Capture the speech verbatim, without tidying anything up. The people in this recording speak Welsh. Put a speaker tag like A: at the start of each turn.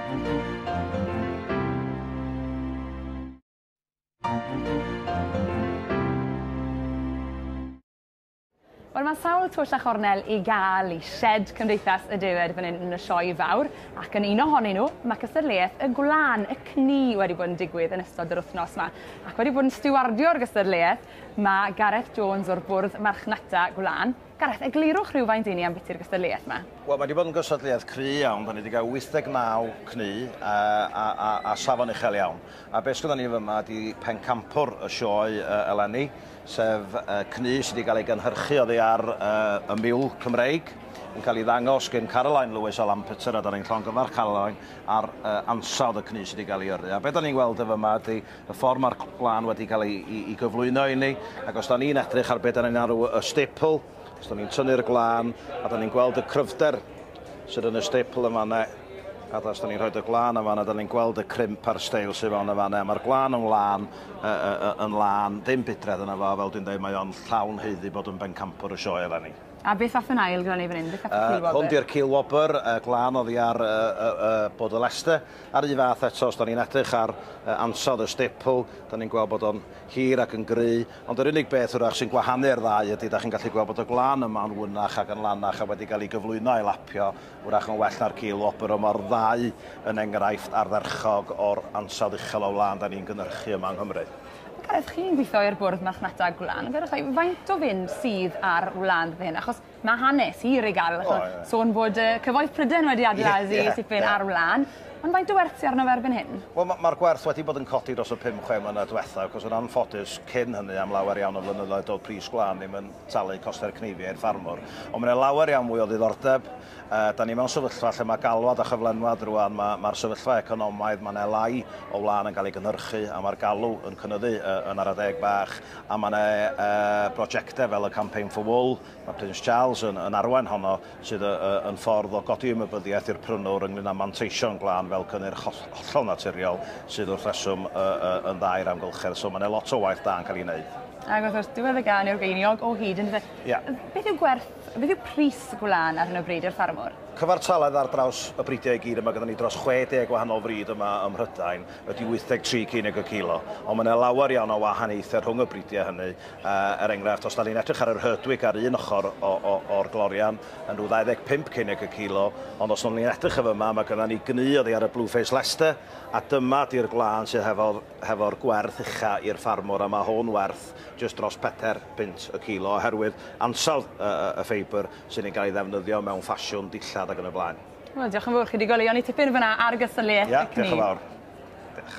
A: Wel, mae sawl twll a chornel i gael i sied Cymdeithas y Defaid fan hyn yn y sioe fawr, ac yn un ohonyn nhw mae cystadleuaeth y gwlân, y cnu, wedi bod yn digwydd yn ystod yr wythnos yma. Ac wedi bod yn stiwardio'r gystadleuaeth mae Gareth Jones o'r Bwrdd Marchnata Gwlân. Gareth, eglurwch rhywfaint i ni am biti'r gystadleuaeth yma.
B: Wel, mae wedi bod yn gystadleuaeth cry iawn. Da ni wedi cael wyth deg naw cnu a, a, a, a safon uchel iawn. A beth sgynnon ni fyma ydi pencampwr y sioe uh, eleni, sef uh, cnu sydd wedi cael ei gynhyrchu oddi ar uh, y miwl Cymreig, yn cael ei ddangos gen Caroline Lewis o Lampeter, a da ni'n llongyfarch Caroline ar uh, ansawdd y cnu sydd wedi cael ei yrru. A beth da ni'n gweld efo yma ydy y ffordd mae'r gwlân wedi cael ei, ei, ei gyflwyno i ni, ac os da ni'n edrych ar beth da ni'n arw y staple, os da ni'n tynnu'r gwlân, a da ni'n gweld y cryfder sydd yn y staple yma, ne, a os da ni'n rhoi y gwlân yma, da ni'n gweld y crimp a'r steil sydd fewn yma, ne. Mae'r gwlân yn lân, uh, uh, yn lân, dim budredd yna fo, fel dwi'n dweud, mae o'n llawn haeddu bod yn bencampwr y sioe eleni.
A: A beth fath yn ail gyda ni fan hyn? Beth fath y
B: uh, Hwn di'r cilwobr, uh, glân oddi ar uh, uh, uh, bod y Leicester. Ar un fath eto, os da ni'n edrych ar uh, ansawdd y staple, da ni'n gweld bod o'n hir ac yn gry. Ond yr unig beth wrach sy'n gwahanu'r ddau ydy, da chi'n gallu gweld bod y glân yma'n wynach ac yn lanach a wedi cael ei gyflwyno a'i lapio, wrach yn well na'r cilwobr, ond mae'r ddau yn enghraifft ardderchog o'r ansawdd uchel o wlân da ni'n gynhyrchu yma yng Nghymru.
A: Gareth, chi'n gweithio i'r Bwrdd Marchnata Gwlân. Gareth, faint o fynd sydd ar wlân fy hyn? Achos mae hanes hir i gael. Oh, yeah. Sôn bod uh, Cyfoeth Prydain wedi adeiladu yeah, yeah, tipyn yeah. ar wlân. Ond faint o werth sydd arno fe erbyn hyn?
B: Wel, mae'r ma gwerth wedi bod yn codi dros y pum chwe mlynedd diwethaf, achos yn anffodus cyn hynny am lawer iawn o flynyddoedd doedd pris gwlân ddim yn talu costau'r cneifiau i'r ffarmwr. Ond mae'n lawer iawn mwy o ddiddordeb. Uh, da ni mewn sefyllfa lle mae galwad a chyflenwad rwan, mae'r ma sefyllfa economaidd, mae'n lai o wlân yn cael ei gynhyrchu a mae'r galw yn cynyddu uh, yn ar adeg bach, a mae yna uh, brosiectau fel y Campaign for Wool, mae Prince Charles yn, yn arwain honno, sydd uh, yn ffordd o godi ymwybyddiaeth i'r prynwr ynglyn â manteision gwlân fel cynnyrch hollol naturiol sydd wrth reswm uh, uh, yn dda i'r amgylchedd. So mae yna lot o waith da yn cael ei wneud.
A: Ac wrth gwrs, diwedd y gân yw'r geiniog o hyd, yn dweud.
B: Yeah.
A: Beth yw gwerth, beth yw pris gwlân ar hyn o bryd i'r ffarmwr?
B: Cyfartaledd ar draws y bridiau i gyd yma, gyda ni dros chwe deg wahanol frid yma ym Mhrydain, ydy wyth deg tri ceiniog y kilo. Ond mae yna lawer iawn o wahaniaethau rhwng y bridiau hynny. Uh, er enghraifft, os da ni'n edrych ar yr Herdwick ar un ochr o'r glorian, yn rhyw ddau ddeg pump ceiniog y kilo, ond os ni'n edrych efo yma, mae gyda ni gnu oddi ar y Blueface Leicester, a dyma di'r gwlân sydd hefo'r hefo gwerth ucha i'r ffarmwr, a mae hwn werth jyst dros pedair punt y kilo, oherwydd ansawdd uh, y ffeibr sy'n ei gael ei ddefnyddio mewn ffasiwn dillad ac yn y blaen.
A: Wel, diolch yn fawr, chi wedi goleuo ni tipyn fyna ar gystadleuaeth
B: Ia,
A: y cnu.
B: Diolch yn fawr. Diolch.